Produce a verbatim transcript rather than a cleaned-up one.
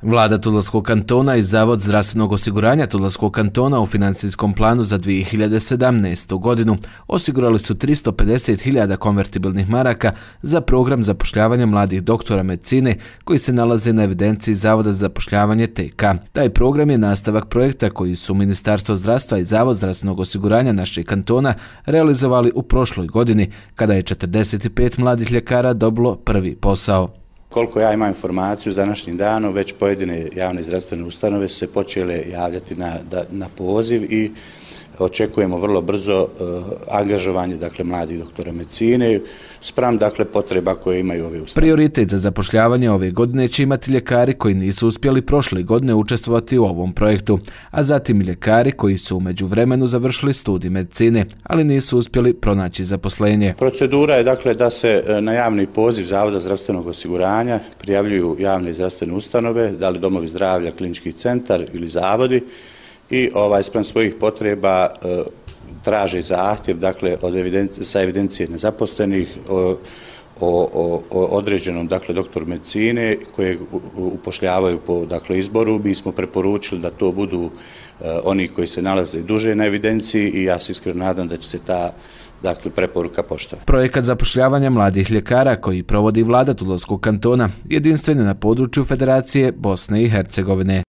Vlada Tuzlanskog kantona i Zavod zdravstvenog osiguranja Tuzlanskog kantona u financijskom planu za dvije hiljade sedamnaestu. godinu osigurali su tristo pedeset hiljada konvertibilnih maraka za program zapošljavanja mladih doktora medicine koji se nalaze na evidenciji Zavoda za zapošljavanje T K. Taj program je nastavak projekta koji su Ministarstvo zdravstva i Zavod zdravstvenog osiguranja našeg kantona realizovali u prošloj godini kada je četrdeset pet mladih ljekara dobilo prvi posao. Koliko ja imam informaciju s današnjim danom, već pojedine javne zdravstvene ustanove su se počele javljati na, na poziv i očekujemo vrlo brzo uh, angažovanje dakle, mladih doktora medicine spram dakle, potreba koje imaju ove ustanove. Prioritet za zapošljavanje ove godine će imati ljekari koji nisu uspjeli prošle godine učestvovati u ovom projektu, a zatim i ljekari koji su u međuvremenu završili studij medicine, ali nisu uspjeli pronaći zaposlenje. Procedura je dakle da se na javni poziv Zavoda zdravstvenog osiguranja prijavljuju javne zdravstvene ustanove, da li domovi zdravlja, klinički centar ili zavodi, i ovaj spram svojih potreba e, traže zahtjev dakle od evidencije, sa evidencije nezaposlenih o, o, o, o određenom dakle doktoru medicine kojeg upošljavaju po dakle izboru. Mi smo preporučili da to budu e, oni koji se nalaze duže na evidenciji i ja se iskreno nadam da će se ta dakle preporuka poštovati. Projekat zapošljavanja mladih ljekara koji provodi Vlada Tuzlanskog kantona jedinstven je na području Federacije Bosne i Hercegovine.